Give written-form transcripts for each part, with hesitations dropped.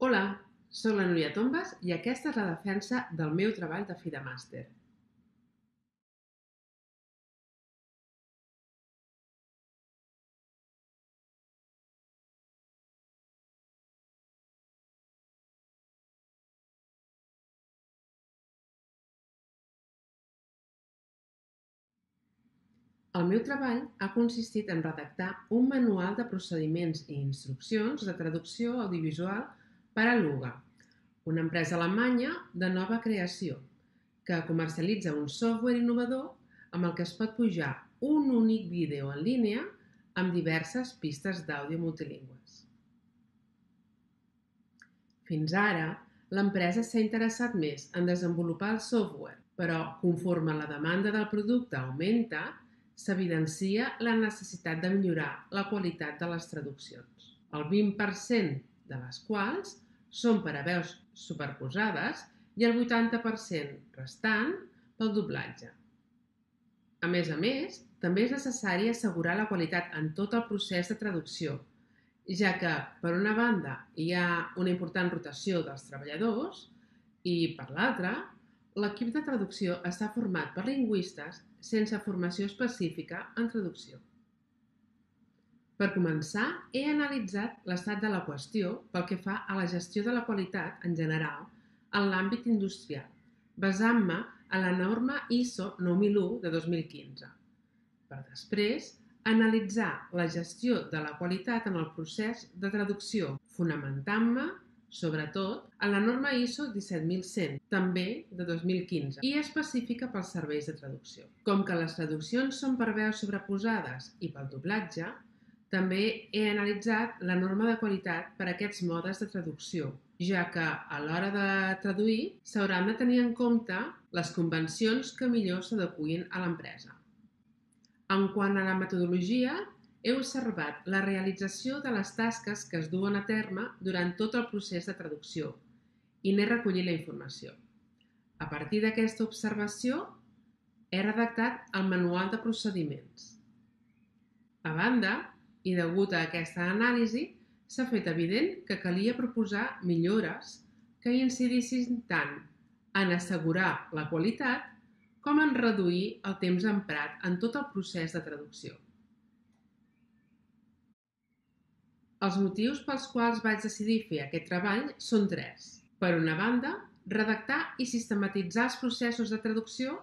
Hola, soc la Núria Tombas i aquesta és la defensa del meu treball de fi de màster. El meu treball ha consistit en redactar un manual de procediments i instruccions de traducció audiovisual per a Luga, una empresa alemanya de nova creació, que comercialitza un software innovador amb el que es pot pujar un únic vídeo en línia amb diverses pistes d'àudio multilingües. Fins ara, l'empresa s'ha interessat més en desenvolupar el software, però conforme la demanda del producte augmenta, s'evidencia la necessitat de millorar la qualitat de les traduccions, el 20% de les quals són per a veus superposades i el 80% restant pel doblatge. A més, també és necessari assegurar la qualitat en tot el procés de traducció, ja que, per una banda, hi ha una important rotació dels treballadors i, per l'altra, l'equip de traducció està format per lingüistes sense formació específica en traducció. Per començar, he analitzat l'estat de la qüestió pel que fa a la gestió de la qualitat en general en l'àmbit industrial, basant-me en la norma ISO 9001 de 2015, per després analitzar la gestió de la qualitat en el procés de traducció, fonamentant-me, sobretot, en la norma ISO 17100, també de 2015, i específica pels serveis de traducció. Com que les traduccions són per veus sobreposades i pel doblatge, també he analitzat la norma de qualitat per a aquests modes de traducció, ja que a l'hora de traduir s'hauran de tenir en compte les convencions que millor s'adeqüin a l'empresa. En quant a la metodologia, he observat la realització de les tasques que es duen a terme durant tot el procés de traducció i n'he recollit la informació. A partir d'aquesta observació, he redactat el manual de procediments. A banda, i degut a aquesta anàlisi, s'ha fet evident que calia proposar millores que incidissin tant en assegurar la qualitat com en reduir el temps emprat en tot el procés de traducció. Els motius pels quals vaig decidir fer aquest treball són tres. Per una banda, redactar i sistematitzar els processos de traducció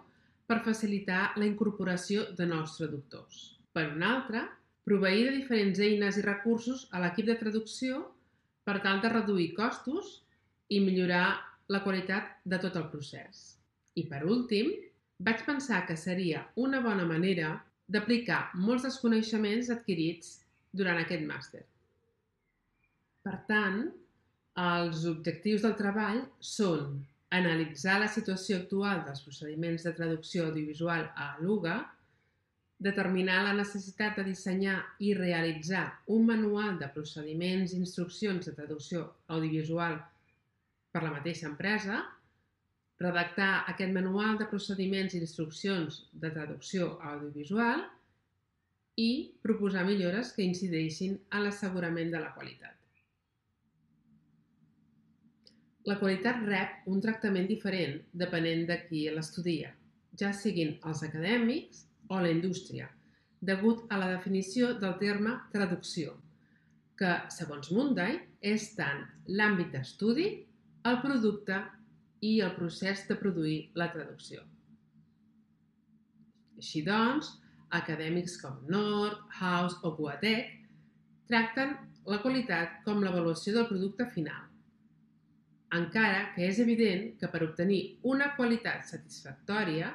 per facilitar la incorporació de nous traductors. Per una altra, proveir de diferents eines i recursos a l'equip de traducció per tal de reduir costos i millorar la qualitat de tot el procés. I per últim, vaig pensar que seria una bona manera d'aplicar molts dels coneixements adquirits durant aquest màster. Per tant, els objectius del treball són analitzar la situació actual dels procediments de traducció audiovisual a Luga, determinar la necessitat de dissenyar i realitzar un manual de procediments i instruccions de traducció audiovisual per la mateixa empresa, redactar aquest manual de procediments i instruccions de traducció audiovisual i proposar millores que incideixin en l'assegurament de la qualitat. La qualitat rep un tractament diferent depenent de qui l'estudia, ja siguin els acadèmics o la indústria, degut a la definició del terme traducció, que, segons Munday, és tant l'àmbit d'estudi, el producte i el procés de produir la traducció. Així doncs, acadèmics com Nord, House o Goethe tracten la qualitat com l'avaluació del producte final, encara que és evident que per obtenir una qualitat satisfactòria,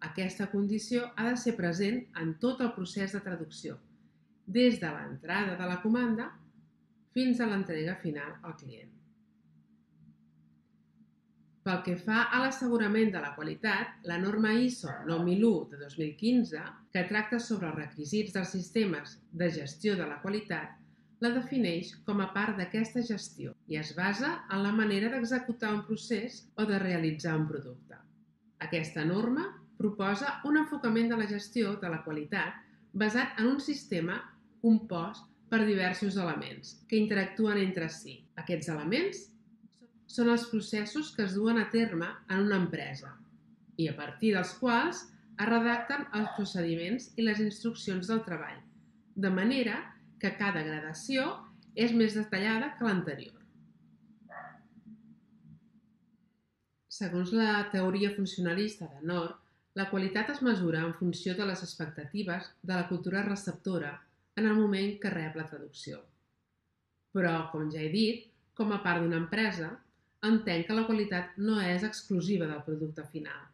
aquesta condició ha de ser present en tot el procés de traducció, des de l'entrada de la comanda fins a l'entrega final al client. Pel que fa a l'assegurament de la qualitat, la norma ISO 9001 de 2015, que tracta sobre els requisits dels sistemes de gestió de la qualitat, la defineix com a part d'aquesta gestió i es basa en la manera d'executar un procés o de realitzar un producte. Aquesta norma proposa un enfocament de la gestió de la qualitat basat en un sistema compost per diversos elements que interactuen entre si. Aquests elements són els processos que es duen a terme en una empresa i a partir dels quals es redacten els procediments i les instruccions del treball, de manera que cada gradació és més detallada que l'anterior. Segons la teoria funcionalista de Nord, la qualitat es mesura en funció de les expectatives de la cultura receptora en el moment que rep la traducció. Però, com ja he dit, com a part d'una empresa, entenc que la qualitat no és exclusiva del producte final,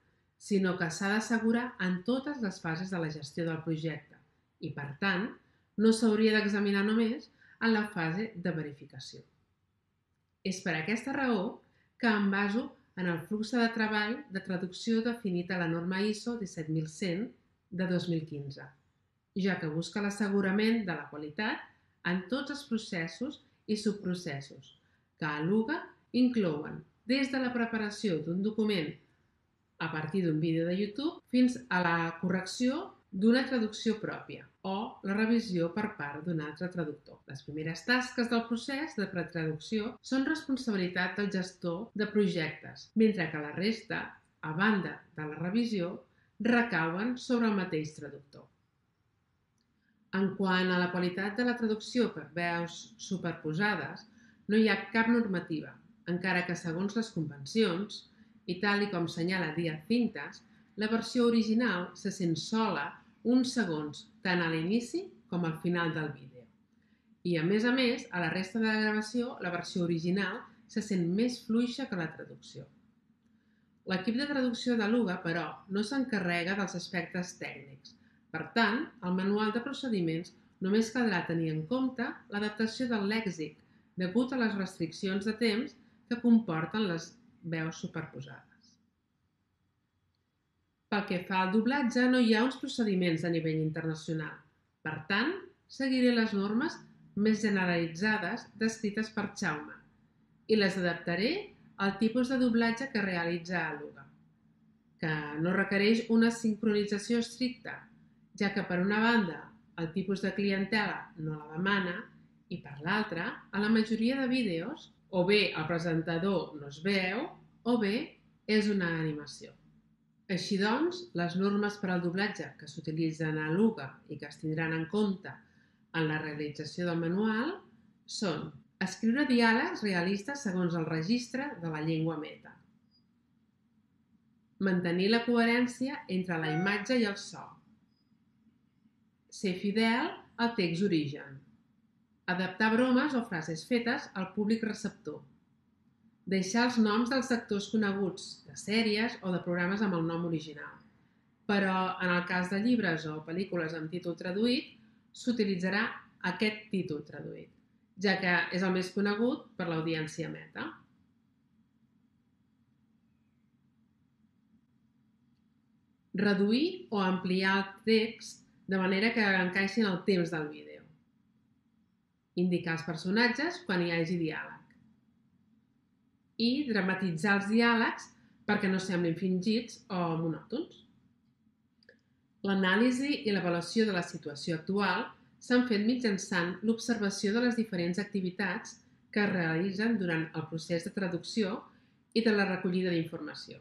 sinó que s'ha d'assegurar en totes les fases de la gestió del projecte i, per tant, no s'hauria d'examinar només en la fase de verificació. És per aquesta raó que em baso en el flux de treball de traducció definit a la norma ISO 17100 de 2015, ja que busca l'assegurament de la qualitat en tots els processos i subprocessos, que a l'UGA inclouen des de la preparació d'un document a partir d'un vídeo de YouTube fins a la correcció d'una traducció pròpia o la revisió per part d'un altre traductor. Les primeres tasques del procés de pretraducció són responsabilitat del gestor de projectes, mentre que la resta, a banda de la revisió, recauen sobre el mateix traductor. En quant a la qualitat de la traducció per veus superposades, no hi ha cap normativa, encara que segons les convencions, i tal com senyala Díaz Cintas, la versió original se sent sola uns segons tant a l'inici com al final del vídeo. I a més, a la resta de la gravació, la versió original se sent més fluixa que la traducció. L'equip de traducció de l'UGA, però, no s'encarrega dels aspectes tècnics. Per tant, al manual de procediments només caldrà tenir en compte l'adaptació del lèxic, degut a les restriccions de temps que comporten les veus superposades. Pel que fa al doblatge, no hi ha uns procediments a nivell internacional. Per tant, seguiré les normes més generalitzades descrites per Jaume i les adaptaré al tipus de doblatge que realitza l'UGA, que no requereix una sincronització estricta, ja que per una banda el tipus de clientela no la demana i per l'altra, a la majoria de vídeos, o bé el presentador no es veu o bé és una animació. Així doncs, les normes per al doblatge que s'utilitzen a l'UGA i que es tindran en compte en la realització del manual són escriure diàlegs realistes segons el registre de la llengua meta, mantenir la coherència entre la imatge i el so, ser fidel al text origen, adaptar bromes o frases fetes al públic receptor, deixar els noms dels actors coneguts de sèries o de programes amb el nom original. Però en el cas de llibres o pel·lícules amb títol traduït, s'utilitzarà aquest títol traduït, ja que és el més conegut per l'audiència meta. Reduir o ampliar el text de manera que encaixi en el temps del vídeo. Indicar els personatges quan hi hagi diàleg. I dramatitzar els diàlegs perquè no semblin fingits o monòtons. L'anàlisi i l'avaluació de la situació actual s'han fet mitjançant l'observació de les diferents activitats que es realitzen durant el procés de traducció i de la recollida d'informació.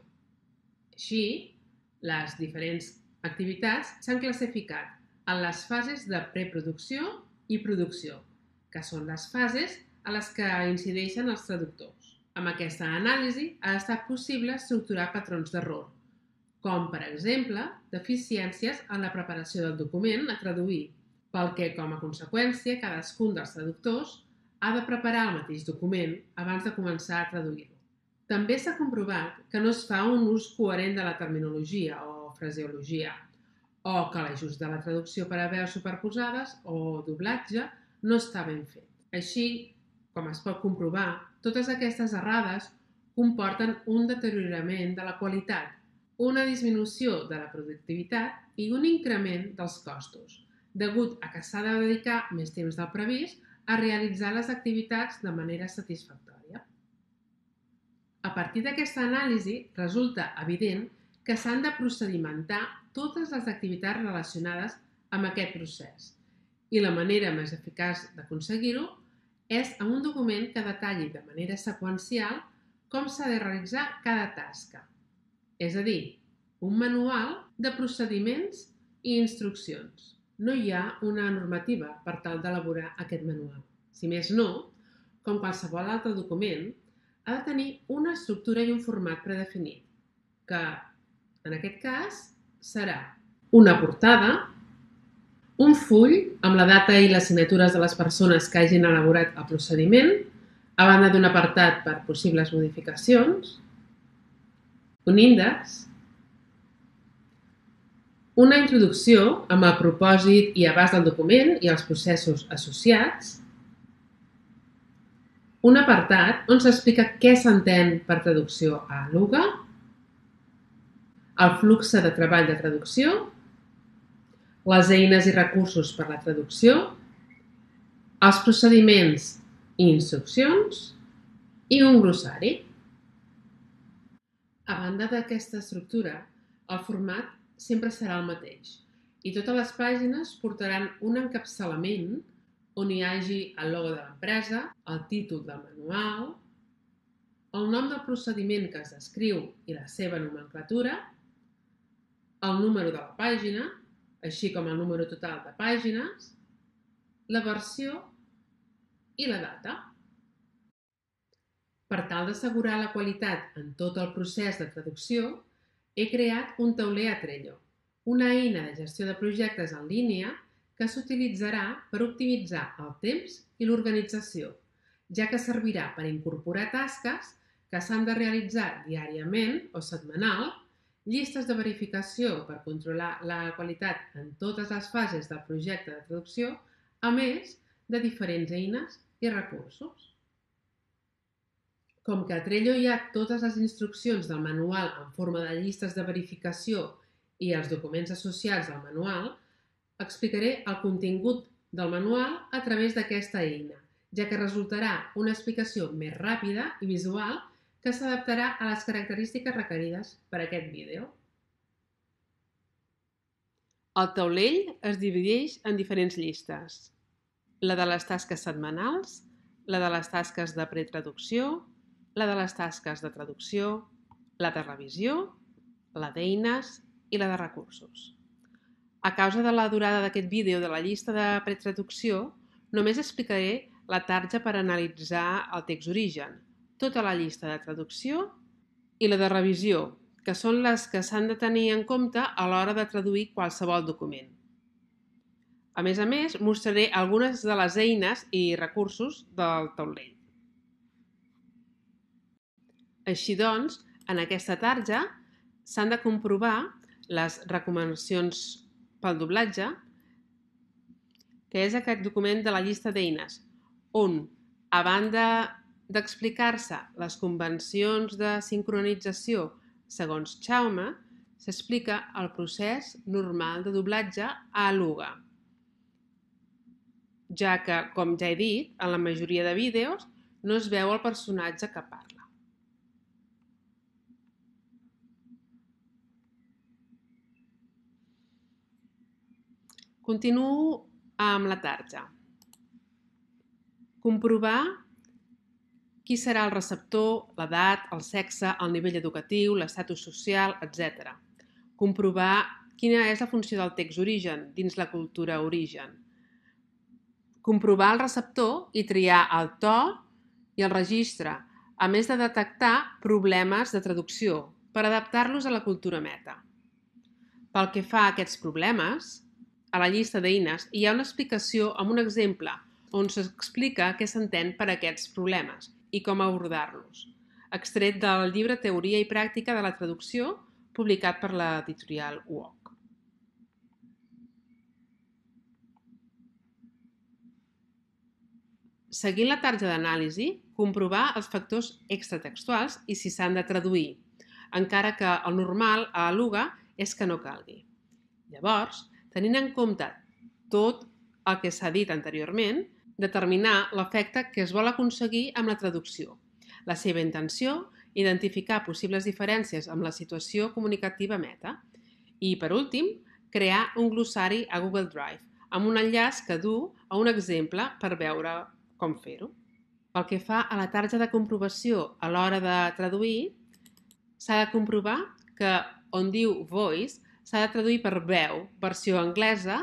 Així, les diferents activitats s'han classificat en les fases de preproducció i producció, que són les fases a les que incideixen els traductors. Amb aquesta anàlisi ha estat possible estructurar patrons d'error, com, per exemple, deficiències en la preparació del document a traduir, pel que, com a conseqüència, cadascun dels traductors ha de preparar el mateix document abans de començar a traduir-lo. També s'ha comprovat que no es fa un ús coherent de la terminologia o fraseologia, o que l'ajust de la traducció per a veus superposades o doblatge no està ben fet. Així, com es pot comprovar, totes aquestes errades comporten un deteriorament de la qualitat, una disminució de la productivitat i un increment dels costos, degut a que s'ha de dedicar més temps del previst a realitzar les activitats de manera satisfactòria. A partir d'aquesta anàlisi, resulta evident que s'han de procedimentar totes les activitats relacionades amb aquest procés i la manera més eficaç d'aconseguir-ho és amb un document que detalli de manera seqüencial com s'ha de realitzar cada tasca. És a dir, un manual de procediments i instruccions. No hi ha una normativa per tal d'elaborar aquest manual. Si més no, com qualsevol altre document, ha de tenir una estructura i un format predefinit, que, en aquest cas, serà una portada, un full amb la data i les signatures de les persones que hagin elaborat el procediment, a banda d'un apartat per possibles modificacions, un índex, una introducció amb el propòsit i abast del document i els processos associats, un apartat on s'explica què s'entén per traducció a Aluga, el flux de treball de traducció, les eines i recursos per a la traducció, els procediments i instruccions i un glossari. A banda d'aquesta estructura, el format sempre serà el mateix i totes les pàgines portaran un encapçalament on hi hagi el logo de l'empresa, el títol del manual, el nom del procediment que es descriu i la seva nomenclatura, el número de la pàgina, així com el número total de pàgines, la versió i la data. Per tal d'assegurar la qualitat en tot el procés de traducció, he creat un tauler a Trello, una eina de gestió de projectes en línia que s'utilitzarà per optimitzar el temps i l'organització, ja que servirà per incorporar tasques que s'han de realitzar diàriament o setmanal, llistes de verificació per controlar la qualitat en totes les fases del projecte de traducció, a més de diferents eines i recursos. Com que a Trello hi ha totes les instruccions del manual en forma de llistes de verificació i els documents associats al manual, explicaré el contingut del manual a través d'aquesta eina, ja que resultarà una explicació més ràpida i visual que s'adaptarà a les característiques requerides per a aquest vídeo. El taulell es divideix en diferents llistes. La de les tasques setmanals, la de les tasques de pretraducció, la de les tasques de traducció, la de revisió, la d'eines i la de recursos. A causa de la durada d'aquest vídeo de la llista de pretraducció, només explicaré la tarja per analitzar el text origen, tota la llista de traducció i la de revisió, que són les que s'han de tenir en compte a l'hora de traduir qualsevol document. A més, mostraré algunes de les eines i recursos del taulell. Així doncs, en aquesta tarja s'han de comprovar les recomanacions pel doblatge, que és aquest document de la llista d'eines, on, a banda d'explicar-se les convencions de sincronització segons Jaume, s'explica el procés normal de doblatge a Aluga, ja que, com ja he dit, en la majoria de vídeos no es veu el personatge que parla. Continuo amb la tarja. Comprovar qui serà el receptor, l'edat, el sexe, el nivell educatiu, l'estatus social, etc. Comprovar quina és la funció del text origen dins la cultura origen. Comprovar el receptor i triar el to i el registre, a més de detectar problemes de traducció per adaptar-los a la cultura meta. Pel que fa a aquests problemes, a la llista d'eines hi ha una explicació amb un exemple on s'explica què s'entén per aquests problemes i com abordar-los, extret del llibre Teoria i Pràctica de la Traducció, publicat per l'editorial UOC. Seguint la tarja d'anàlisi, comprovar els factors extratextuals i si s'han de traduir, encara que el normal a Aluga és que no calgui. Llavors, tenint en compte tot el que s'ha dit anteriorment, determinar l'efecte que es vol aconseguir amb la traducció, la seva intenció, identificar possibles diferències amb la situació comunicativa meta i, per últim, crear un glossari a Google Drive amb un enllaç que du a un exemple per veure com fer-ho. Pel que fa a la tarja de comprovació a l'hora de traduir, s'ha de comprovar que on diu voice s'ha de traduir per veu, versió anglesa.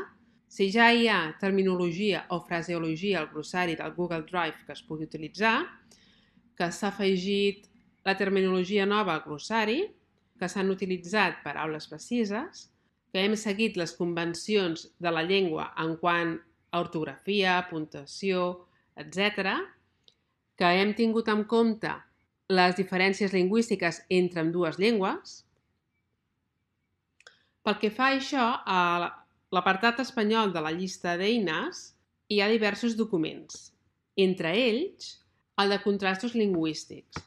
Si ja hi ha terminologia o fraseologia al glossari del Google Drive que es pugui utilitzar, que s'ha afegit la terminologia nova al glossari, que s'han utilitzat paraules precises, que hem seguit les convencions de la llengua en quant a ortografia, puntuació, etc., que hem tingut en compte les diferències lingüístiques entre ambdues llengües. Pel que fa a això, a l'apartat espanyol de la llista d'eines hi ha diversos documents, entre ells el de contrastos lingüístics,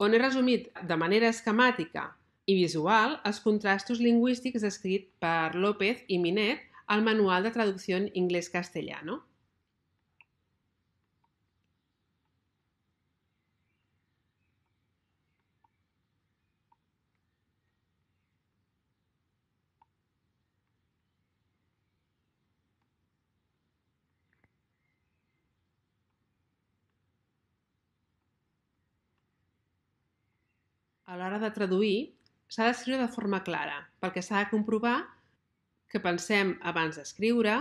on he resumit de manera esquemàtica i visual els contrastos lingüístics descrits per López i Minet al Manual de Traducció Inglés-Castellano. A l'hora de traduir, s'ha d'escriure de forma clara, perquè s'ha de comprovar que pensem abans d'escriure,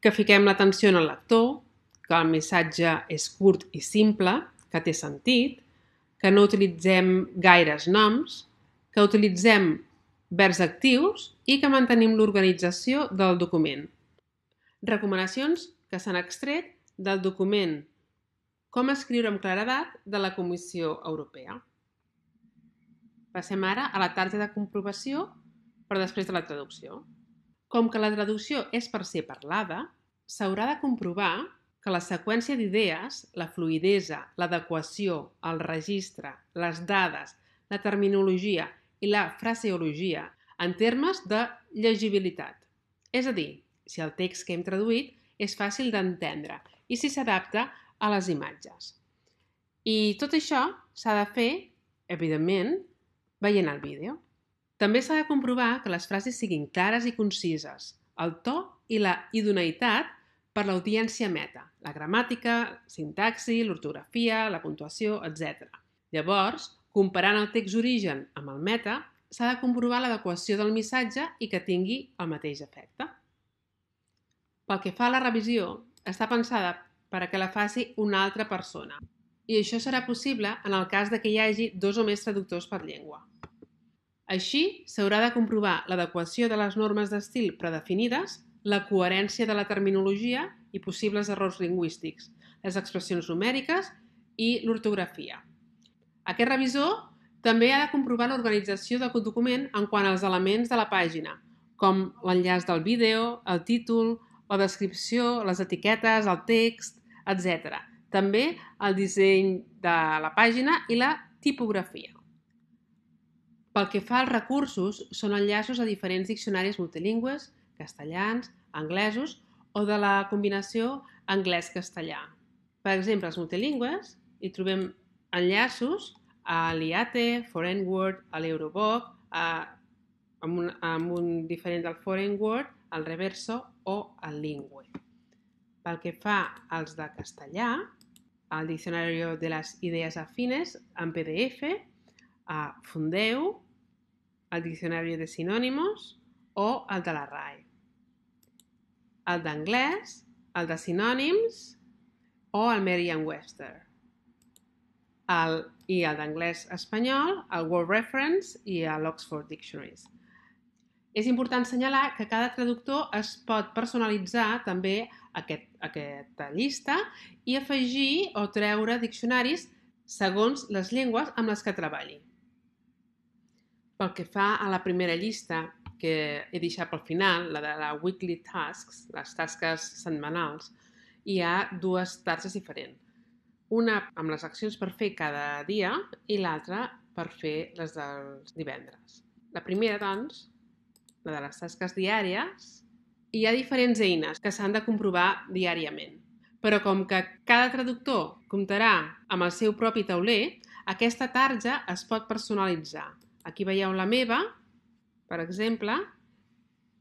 que fiquem l'atenció en el lector, que el missatge és curt i simple, que té sentit, que no utilitzem gaires noms, que utilitzem verbs actius i que mantenim l'organització del document. Recomanacions que s'han extret del document Com escriure amb claredat de la Comissió Europea. Passem ara a la tarja de comprovació per després de la traducció. Com que la traducció és per ser parlada, s'haurà de comprovar que la seqüència d'idees, la fluïdesa, l'adequació, el registre, les dades, la terminologia i la fraseologia en termes de llegibilitat. És a dir, si el text que hem traduït és fàcil d'entendre i si s'adapta a les imatges. I tot això s'ha de fer, evidentment, veient el vídeo. També s'ha de comprovar que les frases siguin clares i concises, el to i la idoneïtat per l'audiència meta, la gramàtica, sintaxi, l'ortografia, la puntuació, etc. Llavors, comparant el text origen amb el meta, s'ha de comprovar l'adequació del missatge i que tingui el mateix efecte. Pel que fa a la revisió, està pensada perquè la faci una altra persona. I això serà possible en el cas que hi hagi 2 o més traductors per llengua. Així, s'haurà de comprovar l'adequació de les normes d'estil predefinides, la coherència de la terminologia i possibles errors lingüístics, les expressions numèriques i l'ortografia. Aquest revisor també ha de comprovar l'organització del document en quant als elements de la pàgina, com l'enllaç del vídeo, el títol, la descripció, les etiquetes, el text, etc. També el disseny de la pàgina i la tipografia. Pel que fa als recursos, són enllaços a diferents diccionaris multilingües, castellans, anglesos o de la combinació anglès-castellà. Per exemple, als multilingües hi trobem enllaços a l'IATE, Foreign Word, a l'Eurobook, amb un diferent del Foreign Word, el Reverso o el Lingüe. Pel que fa als de castellà, al Diccionario de las Ideas Afines en PDF, a Fundeu, el Diccionario de Sinónimos o el de la RAE. El d'anglès, el de sinònims o el Merriam-Webster. I el d'anglès espanyol, el Word Reference i l'Oxford Dictionaries. És important assenyalar que cada traductor es pot personalitzar també aquesta llista i afegir o treure diccionaris segons les llengües amb les que treballi. Pel que fa a la primera llista, que he deixat pel final, la de la Weekly Tasks, les tasques setmanals, hi ha 2 tasques diferents. Una amb les accions per fer cada dia i l'altra per fer les dels divendres. La primera, doncs, la de les tasques diàries, hi ha diferents eines que s'han de comprovar diàriament. Però com que cada traductor comptarà amb el seu propi tauler, aquesta tarja es pot personalitzar. Aquí veieu la meva, per exemple,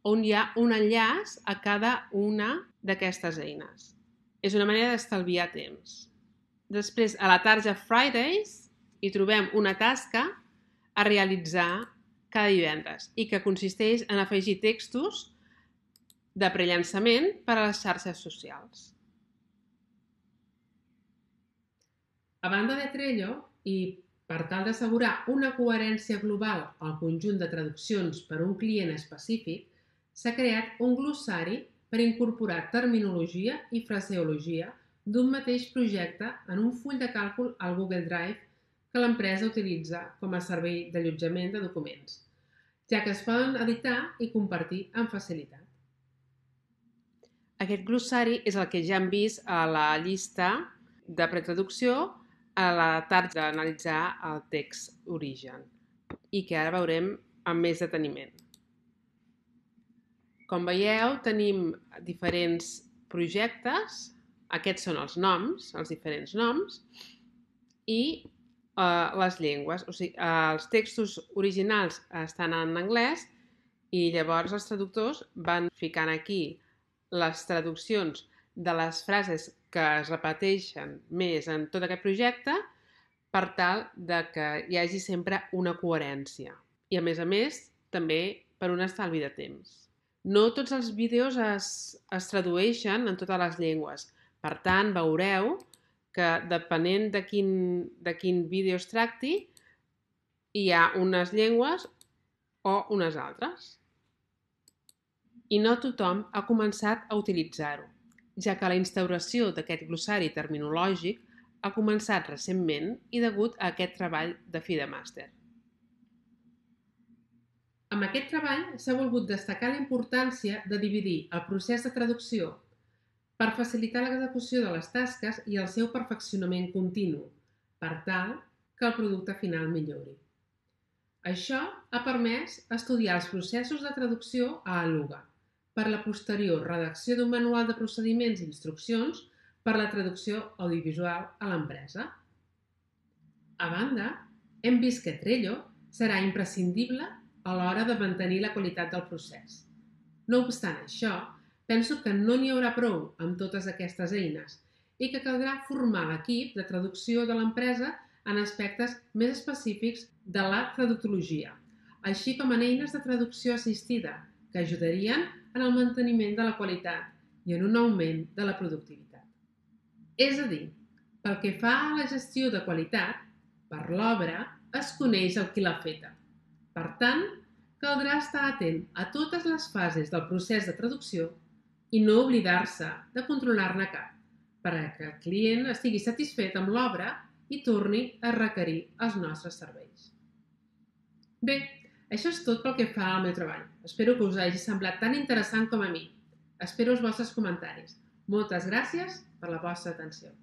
on hi ha un enllaç a cada una d'aquestes eines. És una manera d'estalviar temps. Després, a la tarja Fridays, hi trobem una tasca a realitzar cada divendres i que consisteix en afegir textos de prellançament per a les xarxes socials. A banda de Trello, i per tal d'assegurar una coherència global al conjunt de traduccions per a un client específic, s'ha creat un glossari per incorporar terminologia i fraseologia d'un mateix projecte en un full de càlcul al Google Drive que l'empresa utilitza com a servei d'allotjament de documents, ja que es poden editar i compartir amb facilitat. Aquest glossari és el que ja hem vist a la llista de pretraducció a la tarda d'analitzar el text origen i que ara veurem amb més deteniment. Com veieu, tenim diferents projectes, aquests són els noms, els diferents noms, i les llengües. O sigui, els textos originals estan en anglès i llavors els traductors van ficant aquí les traduccions de les frases que es repeteixen més en tot aquest projecte per tal de que hi hagi sempre una coherència. I a més, també per un estalvi de temps. No tots els vídeos es tradueixen en totes les llengües. Per tant, veureu que depenent de quin vídeo es tracti, hi ha unes llengües o unes altres. I no tothom ha començat a utilitzar-ho, ja que la instauració d'aquest glossari terminològic ha començat recentment i degut a aquest treball de fi de màster. Amb aquest treball s'ha volgut destacar la importància de dividir el procés de traducció per facilitar l'execució de les tasques i el seu perfeccionament continu, per tal que el producte final millori. Això ha permès estudiar els processos de traducció a Aluga, per la posterior redacció d'un manual de procediments i instruccions per la traducció audiovisual a l'empresa. A banda, hem vist que Trello serà imprescindible a l'hora de mantenir la qualitat del procés. No obstant això, penso que no n'hi haurà prou amb totes aquestes eines i que caldrà formar l'equip de traducció de l'empresa en aspectes més específics de la traductologia, així com en eines de traducció assistida que ajudarien en el manteniment de la qualitat i en un augment de la productivitat. És a dir, pel que fa a la gestió de qualitat, per l'obra es coneix el qui l'ha feta. Per tant, caldrà estar atent a totes les fases del procés de traducció i no oblidar-se de controlar-ne cap, perquè el client estigui satisfet amb l'obra i torni a requerir els nostres serveis. Bé, això és tot pel que fa al meu treball. Espero que us hagi semblat tan interessant com a mi. Espero els vostres comentaris. Moltes gràcies per la vostra atenció.